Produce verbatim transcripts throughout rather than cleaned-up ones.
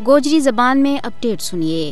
گوجری زبان میں اپڈیٹ سنیے۔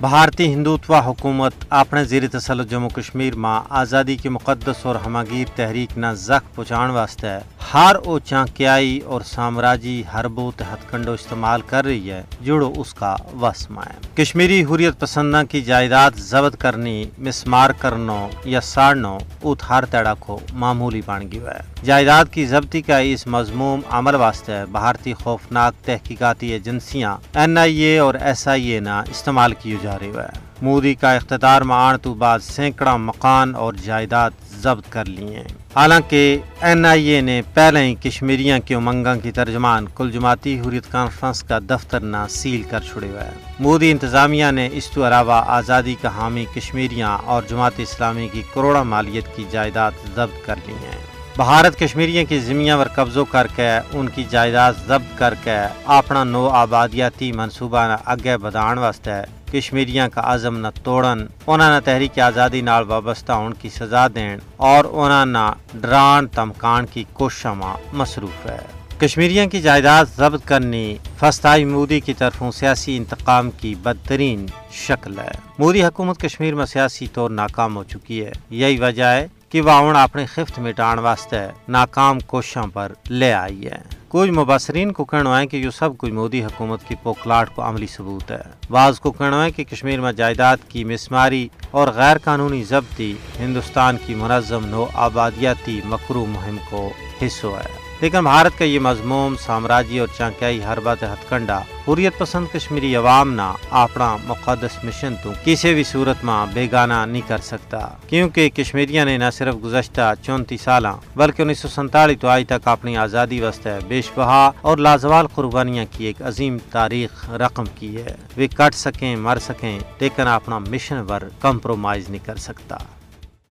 بھارتی ہندوتوا حکومت اپنے زیر تسلط جموں کشمیر ما آزادی کی مقدس اور ہماگیر تحریک نا زخ پہنچان واسطے ہر او چانکیائی اور سامراجی حربو تے ہتھکنڈو استعمال کر رہی ہے جڑو اس کا وس ما ہے۔ کشمیری حریت پسنداں کی جائیداد ضبط کرنی، مسمار کرنو یا ساڑنو ات ہر تیڑا کو معمولی بن گیو ہے۔ جائیداد کی ضبطی کا اس مذموم عمل واسطے بھارتی خوفناک تحقیقاتی ایجنسیاں این آئی اے اور ایس آئی اے نا استعمال کیو جا رہیو ہے۔ مودی کا اقتدار ما آن تو بعد سینکڑاں مکان اور جائیداد ضبط کر لیے ہیں۔ حالانکہ این آئی اے نے پہلے ہی کشمیریاں کے امنگاں کی ترجمان کل جماعتی حریت کانفرنس کا دفتر نا سیل کر چھڑیو ہے۔ مودی انتظامیہ نے اس تو علاوہ آزادی کا حامی کشمیریاں اور جماعت اسلامی کی کروڑاں مالیت کی جائیداد ضبط کر لی ہیں۔ بھارت کشمیریاں کی زمیاں پر قبضو کر کے ان کی جائیداد ضبط کر کے اپنا نو آبادیاتی منصوبہ نا اگے بدھان واسطے کشمیریاں کا عزم نا توڑن، انہاں نا تحریک آزادی نال وابستہ ہون کی سزا دین اور انہاں نا ڈران تمکان کی کوششاں ما مصروف ہے۔ کشمیریاں کی جائیداد ضبط کرنی فستائی مودی کی طرفوں سیاسی انتقام کی بدترین شکل ہے۔ مودی حکومت کشمیر ما سیاسی طور ناکام ہو چکی ہے، یہی وجہ ہے کہ وہ ہن اپنی خفت مٹان واسطے ناکام کوششاں پر لے آئی ہے۔ کچھ مبصرین کو کہنو ہے کہ یوہ سب کچھ مودی حکومت کی پوکھلاٹ کو عملی ثبوت ہے۔ بعض کو کہنو ہے کہ کشمیر ما جائیداد کی مسماری اور غیر قانونی ضبطی ہندوستان کی منظم نو آبادیاتی مکرو مہم کو حصو ہے۔ لیکن بھارت کا یہ مذموم سامراجی اور چانکیائی حربہ تے ہتھکنڈا حریت پسند کشمیری عوام نا اپنا مقدس مشن تو کسی بھی صورت ما بیگانہ نہیں کر سکتا، کیونکہ کشمیریاں نے نہ صرف گزشتہ چونتی سالاں بلکہ انیس سو سینتالیس تو آج تک اپنی آزادی واسطے بیش بہا اور لازوال قربانیاں کی ایک عظیم تاریخ رقم کی ہے۔ ویہ کٹ سکیں مر سکیں، لیکن اپنا مشن پر کمپرومائز نہیں کر سکتا۔